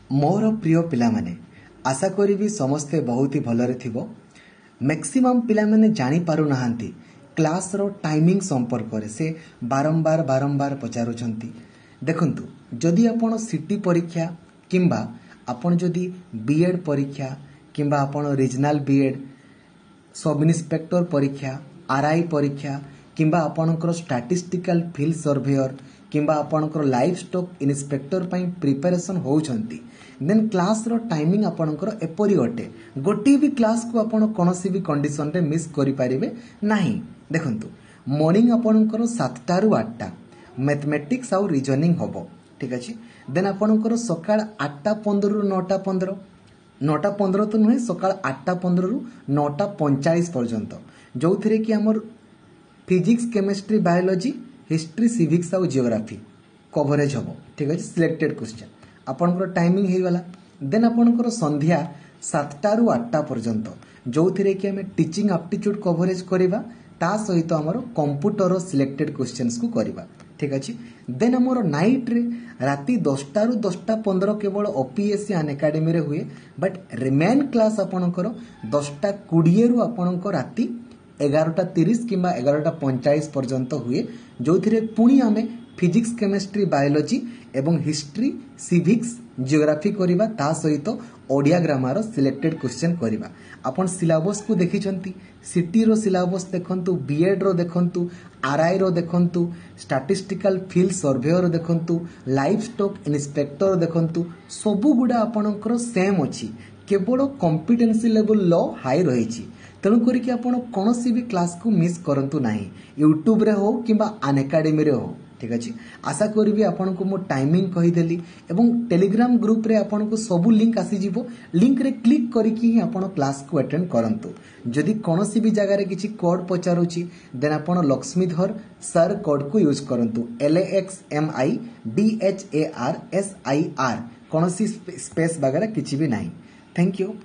ମୋର ପ୍ରିୟ ପିଲାମାନେ, ଆଶା କରିବି ସମସ୍ତେ ବହୁତ ହି ଭଲରେ ଥିବ। ମ୍ୟାକ୍ସିମମ୍ ପିଲାମାନେ ଜାଣିପାରୁନାହାନ୍ତି କ୍ଲାସ୍ର ଟାଇମିଂ ସମ୍ପର୍କରେ, ସେ ବାରମ୍ବାର ବାରମ୍ବାର ପଚାରୁଛନ୍ତି। ଦେଖନ୍ତୁ, ଯଦି ଆପଣ ସିଟି ପରୀକ୍ଷା କିମ୍ବା ଆପଣ ଯଦି ବି ଏଡ଼୍ ପରୀକ୍ଷା କିମ୍ବା ଆପଣ regional B Ed, sub inspector ପରୀକ୍ଷା, ଆର୍ I ପରୀକ୍ଷା କିମ୍ବା ଆପଣଙ୍କର ଷ୍ଟାଟିଷ୍ଟିକାଲ ଫିଲ୍ଡ ସର୍ଭେୟର କିମ୍ବା ଆପଣଙ୍କର ଲାଇଫ୍ ଷ୍ଟକ୍ ଇନ୍ସପେକ୍ଟର ପାଇଁ ପ୍ରିପାରେସନ୍ ହେଉଛନ୍ତି, ଦେନ୍ କ୍ଲାସ୍ର ଟାଇମିଂ ଆପଣଙ୍କର ଏପରି ଅଟେ, ଗୋଟିଏ ବି କ୍ଲାସ୍କୁ ଆପଣ କୌଣସି ବି କଣ୍ଡିସନରେ ମିସ୍ କରିପାରିବେ ନାହିଁ। ଦେଖନ୍ତୁ, ମର୍ଣ୍ଣିଂ ଆପଣଙ୍କର 7ଟାରୁ 8ଟା ମ୍ୟାଥମେଟିକ୍ସ ଆଉ ରିଜନିଂ ହେବ, ଠିକ୍ ଅଛି। ଦେନ୍ ଆପଣଙ୍କର ସକାଳ 8ଟା 15ରୁ 9ଟା 15, 9ଟା 15 ତ ନୁହେଁ, ସକାଳ 8ଟା 15ରୁ 9ଟା 45 ପର୍ଯ୍ୟନ୍ତ, ଯେଉଁଥିରେ କି ଆମର physics, chemistry, biology, history, civics ଆଉ ଜିଓଗ୍ରାଫି କଭରେଜ୍ ହେବ, ଠିକ୍ ଅଛି। ସିଲେକ୍ଟେଡ୍ କ୍ୱେଶ୍ଚନ୍ ଆପଣଙ୍କର ଟାଇମିଂ ହେଇଗଲା। ଦେନ୍ ଆପଣଙ୍କର ସନ୍ଧ୍ୟା 7ଟାରୁ 8ଟା ପର୍ଯ୍ୟନ୍ତ, ଯେଉଁଥିରେ କି ଆମେ ଟିଚିଂ ଆପ୍ଟିଚ୍ୟୁଡ୍ କଭରେଜ୍ କରିବା, ତା ସହିତ ଆମର କମ୍ପ୍ୟୁଟର ସିଲେକ୍ଟେଡ୍ କ୍ୱେଶ୍ଚନ୍ସକୁ କରିବା, ଠିକ୍ ଅଛି। ଦେନ୍ ଆମର ନାଇଟ୍ରେ ରାତି 10ଟାରୁ 10ଟା 15 କେବଳ ଓପିଏସ୍ସି ଅନ୍ ଏକାଡେମୀରେ ହୁଏ, ବଟ୍ ମେନ୍ କ୍ଲାସ୍ ଆପଣଙ୍କର 10ଟା 20ରୁ ଆପଣଙ୍କ ରାତି 11ଟା 30 କିମ୍ବା 11ଟା 45 ପର୍ଯ୍ୟନ୍ତ ହୁଏ, ଯେଉଁଥିରେ ପୁଣି ଆମେ ଫିଜିକ୍ସ, କେମିଷ୍ଟ୍ରି, ବାୟୋଲୋଜି ଏବଂ ହିଷ୍ଟ୍ରି, ସିଭିକ୍ସ, ଜିଓଗ୍ରାଫି କରିବା, ତା ସହିତ ଓଡ଼ିଆ ଗ୍ରାମାର ସିଲେକ୍ଟେଡ୍ କ୍ୱେଶ୍ଚନ୍ କରିବା। ଆପଣ ସିଲାବସ୍କୁ ଦେଖିଛନ୍ତି। ସିଟିର ସିଲାବସ୍ ଦେଖନ୍ତୁ, ବିଏଡ୍ର ଦେଖନ୍ତୁ, ଆର୍ଆଇର ଦେଖନ୍ତୁ, ଷ୍ଟାଟିଷ୍ଟିକାଲ ଫିଲ୍ଡ ସର୍ଭେୟର ଦେଖନ୍ତୁ, ଲାଇଫ୍ ଷ୍ଟକ୍ ଇନ୍ସପେକ୍ଟର ଦେଖନ୍ତୁ, ସବୁଗୁଡ଼ା ଆପଣଙ୍କର ସେମ୍ ଅଛି। କେବଳ କମ୍ପିଟେନ୍ସି ଲେଭେଲ୍ ଲୋ ହାଇ ରହିଛି। ତେଣୁ କରିକି ଆପଣ କୌଣସି ବି କ୍ଲାସ୍କୁ ମିସ୍ କରନ୍ତୁ ନାହିଁ, ୟୁଟ୍ୟୁବରେ ହଉ କିମ୍ବା ଅନ୍ ଏକାଡେମୀରେ ହଉ, ଠିକ୍ ଅଛି। ଆଶା କରିବି ଆପଣଙ୍କୁ ମୁଁ ଟାଇମିଂ କହିଦେଲି ଏବଂ ଟେଲିଗ୍ରାମ ଗ୍ରୁପରେ ଆପଣଙ୍କୁ ସବୁ ଲିଙ୍କ ଆସିଯିବ। ଲିଙ୍କରେ କ୍ଲିକ୍ କରିକି ହିଁ ଆପଣ କ୍ଲାସ୍କୁ ଆଟେଣ୍ଡ କରନ୍ତୁ। ଯଦି କୌଣସି ବି ଜାଗାରେ କିଛି କୋଡ୍ ପଚାରୁଛି, ଦେନ୍ ଆପଣ ଲକ୍ଷ୍ମୀଧର ସାର୍ କୋଡ୍କୁ ୟୁଜ୍ କରନ୍ତୁ, LAXMIDHARSIR, କୌଣସି ସ୍ପେସ୍ ବାଗେରା କିଛି ବି ନାହିଁ। Thank you.